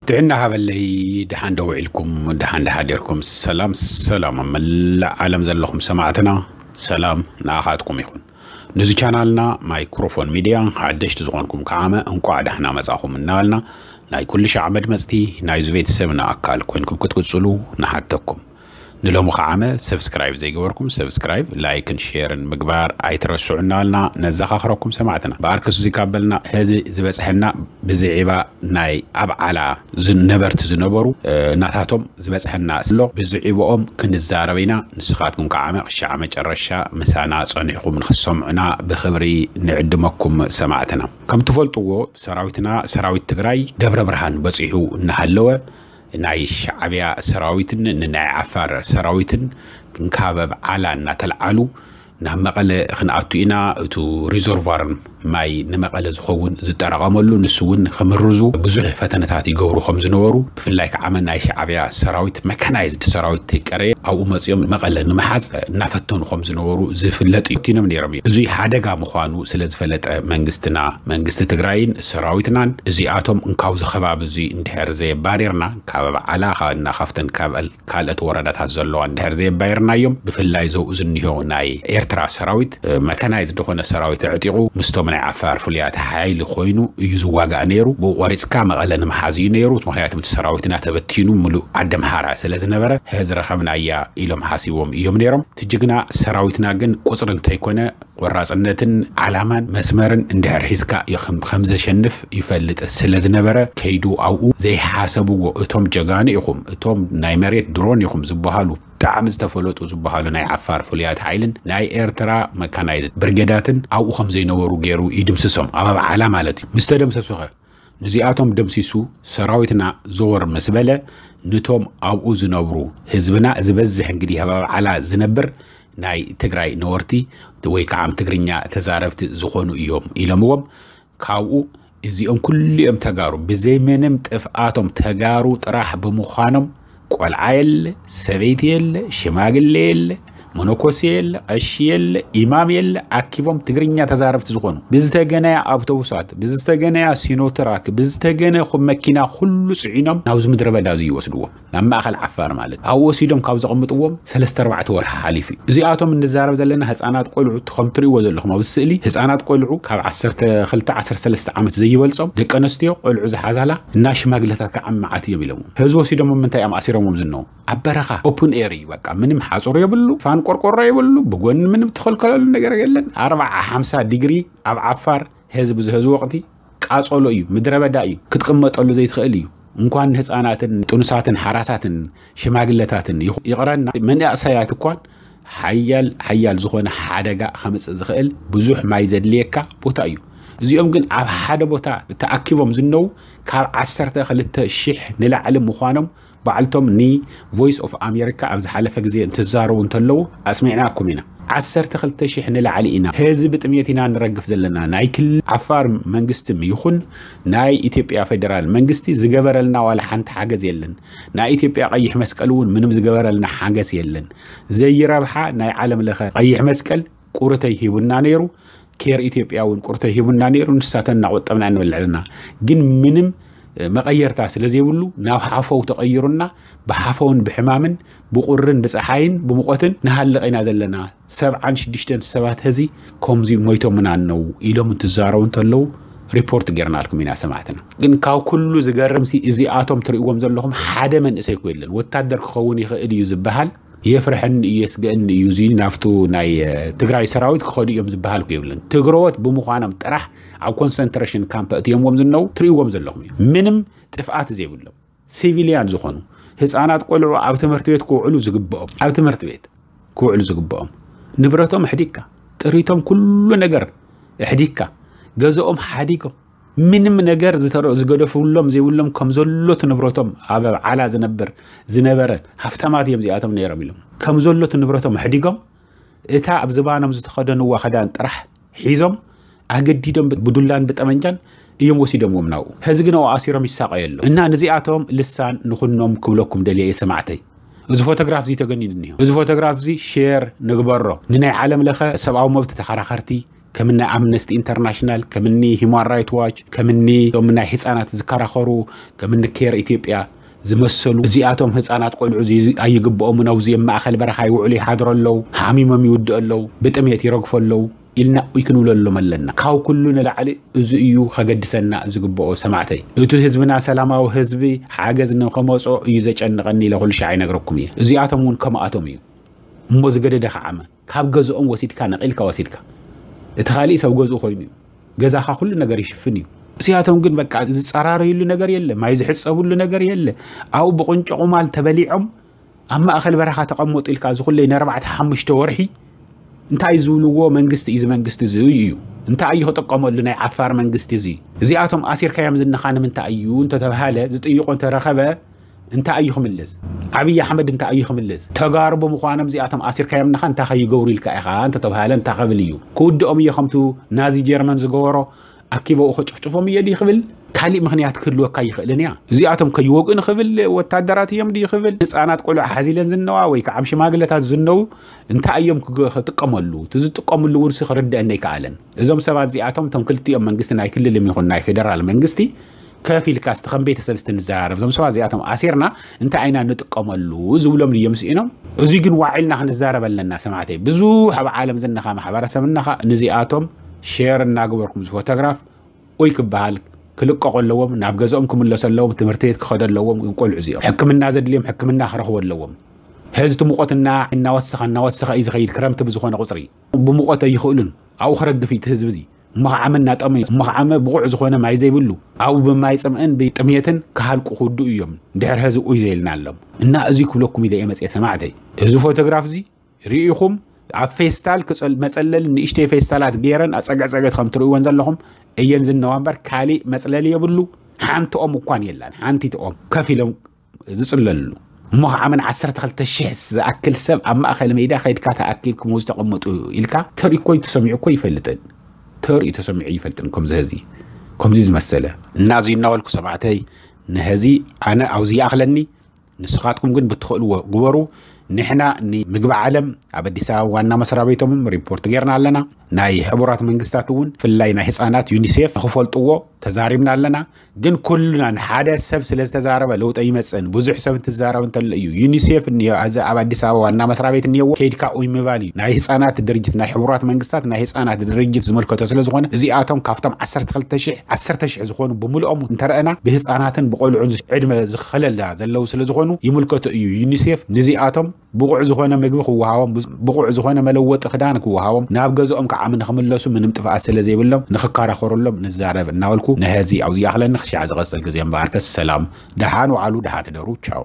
ጥዕና ሃበለይ። ደሓን ዶ ውዒልኩም? ደሓን ዶ ሓዲርኩም? ሰላም ሰላም፣ ኣብ መላእ ዓለም ዘለኹም ሰማዕትና፣ ሰላም ንኣኻትኩም ይኹን። ነዚ ቻናልና ማይክሮፎን ሚድያ ሓደሽቲ ዝኾንኩም ከዓመ እንቋዕ ደሕና መጻኹም እናበልና፣ ናይ ኩሉ ሻዕ መድመጽቲ ናይዚ ቤተሰብና ኣካል ኮይንኩም ክትቅጽሉ ንሓተኩም። ንሎሚ ከዓመ ሰብስክራይብ ዘይገበርኩም ሰብስክራይብ፣ ላይክን ሼርን ምግባር ኣይትረስዑ እናበልና ነዘኻኽረኩም ሰማዕትና። ብኣርከስ እዙይ ካብ በልና፣ ሕዚ ዝበጽሐና ብዝዒባ ናይ ኣብ ዓላ ዝን-፣ ነበርቲ ዝነበሩ፣ እ፣ እናታቶም ዝበጽሐና ኣሎ። ብዝዒባኦም ክንዛረብ ኢና። ንስኻትኩም ከዓመ ክሻዕ መጨረሻ ምሳና ጸኒሕኩም ንኽትሰምዑና ብኽብሪ ንዕድመኩም ሰማዕትና። ከም ትፈልጥዎ፣ ሰራዊትና፣ ሰራዊት ትግራይ ደብረ ብርሃን በጺሑ እናሃለወ፣ ናይ ሻዕብያ ሰራዊትን ንናይ ዓፋር ሰራዊትን ካብ ኣብ ዓላ እናተልዓሉ፣ ናብ መቐለ ክንኣቱ ኢና፣ እቱ ሪዞርቫርን ማይ ንመቐለ ዝኸውን ዝጠራቐመሉ፣ ንሱ እውን ክምርዙ ብዙሕ ፈተነታት ይገብሩ ከም ዝነበሩ፣ ብፍላይ ከዓ ናይ ሻዕብያ ሰራዊት፣ መካናይዝድ ሰራዊት ተይቀረየ ኣብኡ መፂኦም መቐለ ንምሓዝ እናፈተኑ ከም ዝነበሩ ዝፍለጥ እዩ። ፈቲኖም ነይሮም እዮም። እዙይ ሓደጋ ምዃኑ ስለ ዝፈለጠ መንግስትና፣ መንግስቲ ትግራይን ሰራዊትናን እዚኣቶም እንካብዚ ከባቢ እዙይ እንድሕር ዘየባሪርና፣ ካብ ኣብ ዓላ፣ ካብ እና ካብተን ካብ ካልኦት ወረዳታት ዘለዋ እንድሕር ዘየባየርናዮም፣ ብፍላይ ዘብኡ ዝኒሆ ናይ ኤርትራ ሰራዊት፣ እ፣ መካናይዝድ ዝኾነ ሰራዊት ኣዕጢቑ ምስቶም ናይ ዓፋር ፍሉያት ሓይሊ ኮይኑ እዩ ዝዋጋእ ነይሩ። ብኡ ቆሪፅካ መቐለ ንምሓዝ እዩ ነይሩ። ምኽንያቱ እቲ ሰራዊትና ተበቲኑ ምሉእ ዓዲ ኣምሓራ ስለ ዝነበረ፣ "ሀ፣ ዝረኸብናያ" ኢሎም ሓሲቦም እዮም ነይሮም። እቲ ጅግና ሰራዊትና ግን ቁፅሪ እንተይኮነ፣ ቆራፅነትን ዓላማን መስመርን እንድሕር ሒዝካ ኢኽም ከም ዘሸንፍ ይፈልጥ ስለ ዝነበረ፣ ከይዱ ኣብኡ ዘይሓሰብዎ፣ እቶም ጀጋኑ ኢኹም፣ እቶም ናይ መሬት ድሮን ኢኹም ዝበሃሉ፣ ብጣዕሚ ዝተፈለጡ ዝበሃሉ ናይ ዓፋር ፍሉያት ሓይልን ናይ ኤርትራ መካናይዝድ ብርጌዳትን ኣብኡ ከም ዘይነበሩ ገይሩ ይድምስሶም፣ ኣብ ኣብዓላ ማለት እዩ። ምስ ተደምሰሱኸ? ንዚኣቶም ደምሲሱ ሰራዊትና ዘወር ምስ በለ፣ ንቶም ኣብኡ ዝነብሩ ህዝብና ዝበዝሕ እንግዲህ ኣብ ኣብዓላ ዝነብር ናይ ትግራይ ነበርቲ ወይ ከዓ ትግርኛ ተዛረብቲ ዝኾኑ እዮም ኢሎምዎም። ካብኡ እዚኦም ኩሊኦም ተጋሩ፣ ብዘይ ምንም ጥፍኣቶም ተጋሩ ጥራሕ ብምዃኖም፣ ቆልዓ የለ፣ ሰበይቲ የለ፣ ሽማግሌ የለ፣ መነኮሴ የለ፣ ቀሺ የለ፣ ኢማም የለ፣ ኣኪቦም ትግርኛ ተዛረብቲ ዝኾኑ ብዝተገነያ ኣውቶቡሳት፣ ብዝተገነያ ሲኖትራክ፣ ብዝተገነ መኪና ኩሉ ጽዒኖም ናብዚ ምድረ በዳ እዚ ይወስድዎም። ናብ ማእኸል ዓፋር ማለት። ኣብኡ ወሲዶም ካብ ዘቐምጥዎም ሰለስተ ኣርባዕተ ወርሒ ሓሊፉ እዩ። እዚኣቶም እንዛረብ ዘለና ህፃናት ቆልዑ፣ እቲ ከም ትርእይዎ ዘለኹም ኣብዚ ስእሊ፣ ህፃናት ቆልዑ ካብ ዓሰርተ ክልተ ዓሰርተ ሰለስተ ዓመት ዘይበልጾም፣ ደቂ ኣንስትዮ ቆልዑ ዝሓዛላ እና ሽማግለታት ከዓ መዓት እዮም ኢሎምዎም። ሕዚ ወሲዶም ኣብ ምንታይ እዮም ኣሲሮምዎም ዝነው? ኣብ በረኻ፣ ኦፕን ኤር እዩ በቃ። ምንም ሓፁር የብሉ፣ ፋን ቆርቆሮ የብሉ፣ ብጎኒ ምንም ትኸልከለሉ ነገር የለን። ኣርብዓ ሓምሳ ዲግሪ ኣብ ዓፋር ህዝቢ ዝህዚ ወቕቲ ቃጸሎ እዩ፣ ምድረ በዳ እዩ፣ ክትቕመጠሉ ዘይትኽእል እዩ። እንኳን ንህፃናትን ጥኑሳትን ሓራሳትን ሽማግለታትን ይኹ-፣ ይቕረና፣ መንእሰያት እኳን ሓያል፣ ሓያል ዝኾነ ሓደጋ ከምጽእ ዝኽእል ብዙሕ ማይ ዘድልየካ ቦታ እዩ። እዚኦም ግን ኣብ ሓደ ቦታ ተኣኪቦም ዝነው ካብ ዓሰርተ ክልተ ሺሕ ንላዕሊ ምዃኖም ባዕልቶም ኒ ቮይስ ኦፍ ኣሜሪካ ኣብ ዝሓለፈ ግዜ እንትዛረቡ እንተለዉ ኣስሚዕናኩም ኢና። ዓሰርተ ክልተ ሺሕ ንላዕሊ ኢና፣ ህዝቢ ጥሜት ኢና ንረግፍ ዘለና። ናይ ክልል ዓፋር መንግስቲ ይኹን ናይ ኢትዮጵያ ፌደራል መንግስቲ ዝገበረልና ዋላ ሓንቲ ሓገዝ የለን። ናይ ኢትዮጵያ ቀይሕ መስቀል እውን ምንም ዝገበረልና ሓገዝ የለን። ዘይረብሓ ናይ ዓለም ለኸ ቀይሕ መስቀል ቁርተይ ሂቡና ነይሩ። ኬር ኢትዮጵያ እውን ቁርተይ ሂቡና ነይሩ። ንሳተን እናቆጠብና ንበልዕ ኣለና። ግን ምንም፣ እ፣ መቐየርታ ስለ ዘይብሉ ናብ ሓፈው ተቐይሩና፣ ብሓፈውን ብሕማምን ብቁርን ብፀሓይን ብሙቐትን ንሃልቕ ኢና ዘለና። ሰብዓን ሽዱሽተን ሰባት ህዚ ከምዚ ሞይቶምና ኣነው ኢሎም እንትዛረቡ እንተለዉ ሪፖርት ጌርናልኩም ኢና ሰማዕትና። ግን ካብ ኩሉ ዝገርምሲ እዚኣቶም ትርእይዎም ዘለኹም ሓደ መንእሰይ እኮ የለን። ወታደር ክኸውን ይኽእል እዩ ዝበሃል የፍርሐኒ እዩ፣ የስግእኒ እዩ፣ እዚ ናብቱ ናይ፣ እ፣ ትግራይ ሰራዊት ክኸዱ እዮም ዝበሃል እኮ የብለን። ትግረዎት ብምዃኖም ጥራሕ ኣብ ኮንሰንትሬሽን ካምፕ ኣእትዮምዎም ዝነው ትርእይዎም ዘለኹም እዩ። ምንም ጥፍኣት ዘይብሎም ሲቪልያን ዝኾኑ ህፃናት ቆልዑ ኣብ ትምህርቲ ቤት ክውዕሉ ዝግብኦም፣ ኣብ ትምህርቲ ቤት ክውዕሉ ዝግብኦም፣ ንብረቶም ኣሕዲግካ፣ ጥሪቶም ኩሉ ነገር ኣሕዲግካ፣ ገዝኦም ሓዲጎም፣ ምንም ነገር ዝተረ-፣ ዝገደፍሎም ዘይብሎም ከም ዘሎ እቲ ንብረቶም ኣብ ዓላ ዝነብር ዝነበረ ሃፍታማት እዮም እዚኣቶም ነይሮም ኢሎም። ከም ዘሎ እቲ ንብረቶም ኣሕዲጎም፣ እታ ኣብ ዝባኖም ዝተኸደንዋ ክዳን ጥራሕ ሒዞም፣ ኣገዲዶም ብ-፣ ብዱላን ብጠመንጃን እዮም ወሲዶምዎም ናብኡ። ሕዚ ግን ኣብኡ ኣሲሮም ይሳቐዩ ኣለዉ። እና ነዚኣቶም ልሳን ንኹኖም ክብለኩም ደልየ እየ ሰማዕተይ። እዚ ፎቶግራፍ እዚ ተገኒኑ እኒሆ። እዚ ፎቶግራፍ እዚ ሼር ንግበሮ። ንናይ ዓለም ለኸ ሰብኣዊ መብት ተኸራኸርቲ፣ ከምኒ ኣምነስቲ ኢንተርናሽናል፣ ከምኒ ሂማን ራይት ዋች፣ ከምኒ እቶም ናይ ህፃናት ዝከራኸሩ፣ ከምኒ ኬር ኢትዮጵያ ዝመሰሉ፣ እዚኣቶም ህፃናት ቆልዑ እዚ ኣይግብኦም፣ ነውዚ ማእኸል በረኻ ይውዕሉ ይሓድሩ ኣለዉ፣ ሓሚሞም ይውድኡ ኣለዉ፣ ብጥሜት ይረግፉ ኣለዉ ኢልና እይ ክንብለሎም ኣለና። ካብ ኩሉ ንላዕሊ እዚ እዩ ከገድሰና ዝግብኦ ሰማዕተይ። እቲ ህዝብና ሰላማዊ ህዝቢ ሓገዝ ንኸመጾ እዩ ዘጨንቐኒ ኢለ ኩሉ ሻዕ ይነግረኩም እየ። እዚኣቶም እውን ከምኣቶም እዩ። እሞ ዝገደደ ከዓመ ካብ ገዝኦም ወሲድካ ነቒልካ ወሲድካ እቲ ካሊእ ሰብ ገዝኡ ኮይኑ እዩ። ገዛኻ ኩሉ ነገር ይሽፍን እዩ። እዚኣቶም ግን በቃ ዝጸራረዩሉ ነገር የለ፣ ማይ ዝሕጸቡሉ ነገር የለ። ኣብኡ ብቁንጮ ቁማል ተበሊዖም ኣብ ማእኸል በረኻ ተቐመጡ ኢልካ እዚ ኩለይ ንኣርባዕተ ሓሙሽተ ወርሒ እንታይ ዝብልዎ መንግስቲ እዩ? እዚ መንግስቲ እዚ እዩ እንታይ እዩ ክጥቀመሉ ናይ ዓፋር መንግስቲ እዚ? እዚኣቶም ኣሲርካዮም ዝንኻ ንምንታይ እዩ እንተተባሃለ ዝጥይቆ እንተረኸበ እንታይ እዩ ክምልስ? ኣብይ ኣሕመድ እንታይ እዩ ክምልስ? ተጋሩ ብምዃኖም እዚኣቶም ኣሲርካዮም ንኻ እንታይ ከይገብሩ ኢልካ ኢኻ እንተተባሃለ እንታይ ክብል እዩ? ክውድኦም እየ ከምቱ ናዚ ጀርመን ዝገበሮ ኣኪበኡ ከጭፍጭፎም እየ ድዩ ክብል? ካሊእ ምኽንያት ክህልወካ ይኽእልን እያ። እዚኣቶም ከይወግኡ ንኽብል ወታደራት እዮም ድዩ ክብል? ህፃናት ቆልዑ ሓዚለን ዝነዋ ወይ ከዓ ኣብ ሽማግለታት ዝነው እንታይ እዮም ክጥቀመሉ? እቲ ዝጥቀምሉ እውን ክርድአኒ ኣይከኣለን። እዞም ሰባት እዚኣቶም እቶም ክልቲኦም መንግስቲ ናይ ክልል ይኹን ናይ ፌደራል መንግስቲ ከፍ ኢልካ እስቲ ከም ቤተሰብ እስቲ ንዘራረብ። እዞም ሰባት እዚኣቶም ኣሲርና እንታይ ኢና ንጥቀመሉ ዝብሎም ድዮም ስኢኖም? እዚ ግን ዋዒልና ክንዛረብ ኣለና ሰማዕተይ። ብዙሕ ኣብ ዓለም ዝነኻ ማሕበረሰብ እነኻ ንዚኣቶም ሼር እናገበርኩም እዚ ፎቶግራፍ ኡይ ክበሃል ክልቀቑ ኣለዎም፣ ናብ ገዝኦም ክምለሱ ኣለዎም፣ ትምህርቲ ቤት ክኸዱ ኣለዎም። ቆልዑ እዚኦም ሕክምና ዘድልዮም ሕክምና ክረኽቡ ኣለዎም። ሕዚ እቲ ሙቐት እና እናወሰኸ እናወሰኸ እዩ ዝኸይድ። ክረምቲ ብዝኾነ ቁፅሪ ብሙቐት ኣይኽእሉን። ኣብኡ ክረግፍ እዩ እቲ ህዝቢ እዚ። እሞ ከዓመ እናጠመዩ እሞ ከዓመ ብቑዕ ዝኾነ ማይ ዘይብሉ ኣብኡ ብማይ ፅምእን ብጥሜትን ክሃልቁ ክውድኡ እዮም። ድሕሪ ሕዚ ኡይ ዘይልና ኣሎም እና እዚ ክብለኩም ኢለ እየ መፅየ ሰማዕተይ። እዚ ፎቶግራፍ እዚ ርኢኹም ኣብ ፌስታል ክጸል- መጸለሊ ንእሽተይ ፌስታላት ገይረን ኣጸግዕጸገት ከም ትርእይወን ዘለኹም እየን ዝነዋ እምበር ካሊእ መጽለሊ የብሉ። ሓንቲ ኦም እኳን የላን። ሓንቲ ኦም ከፍ ኢሎም ዝጽለሉ እሞ ከዓመን ዓሰርተ ክልተ ሽሕ ዝኣክል ሰብ ኣብ ማእከል ሜዳ ከይድካ ተኣኪብኩም ዝተቐመጡ ኢልካ ተርኢ እኮ ተሰሚዑ እኮ ይፈልጥን ተርኢ ተሰሚዑ ይፈልጥን። ከምዚ ህዚ ከምዚ ዝመሰለ እና እዚ እናበልኩ ሰማዕተይ ንህዚ ኣነ ኣብዚ ይኣኽለኒ። ንስኻትኩም ግን ብትኽእልዎ ግበሩ። ንሕና ንምግቢ ዓለም ኣብ ኣዲስ ኣበባ ዋና መስሪያ ቤቶምም ሪፖርት ጌርና ኣለና። ናይ ሕቡራት መንግስታት እውን ብፍላይ ናይ ህፃናት ዩኒሴፍ ንክፈልጥዎ ተዛሪብና ኣለና። ግን ኩልና ንሓደ ሰብ ስለ ዝተዛረበ ለውጢ ኣይመፅእን። ብዙሕ ሰብ እንትዛረብ እንተሎ እዩ። ዩኒሴፍ እኒኦ፣ እዚ ኣብ ኣዲስ ኣበባ ዋና መስሪያ ቤት እኒኦዎ፣ ከይድካ ኡይ ምባል እዩ። ናይ ህፃናት ድርጅት፣ ናይ ሕቡራት መንግስታት ናይ ህፃናት ድርጅት ዝምልከቶ ስለ ዝኾነ እዚኣቶም ካብቶም ዓሰርተ ክልተ ሽሕ ዓሰርተ ሽሕ ዝኾኑ ብምልኦም እንተረኣና ብህፃናትን ብቆልዑን ዕድመ ዝኸለላ ዘለዉ ስለ ዝኾኑ ይምልከቶ እዩ። ዩኒሴፍ ንዚኣቶም ብቑዕ ዝኾነ ምግቢ ክወሃቦም፣ ብቑዕ ዝኾነ መለወጢ ክዳን ክወሃቦም፣ ናብ ገዝኦም ከዓ ንክምለሱ ምንም ጥፍኣት ስለ ዘይብሎም ንክከራኸሩሎም ንዛረብ እናበልኩ ንህዚ ኣብዚ ይኣኽለኒ። ክሻዕ ዝቐፅል ግዜ እምበኣርከስ ሰላም፣ ደሓን ውዓሉ፣ ደሓን ሕደሩ። ቻው።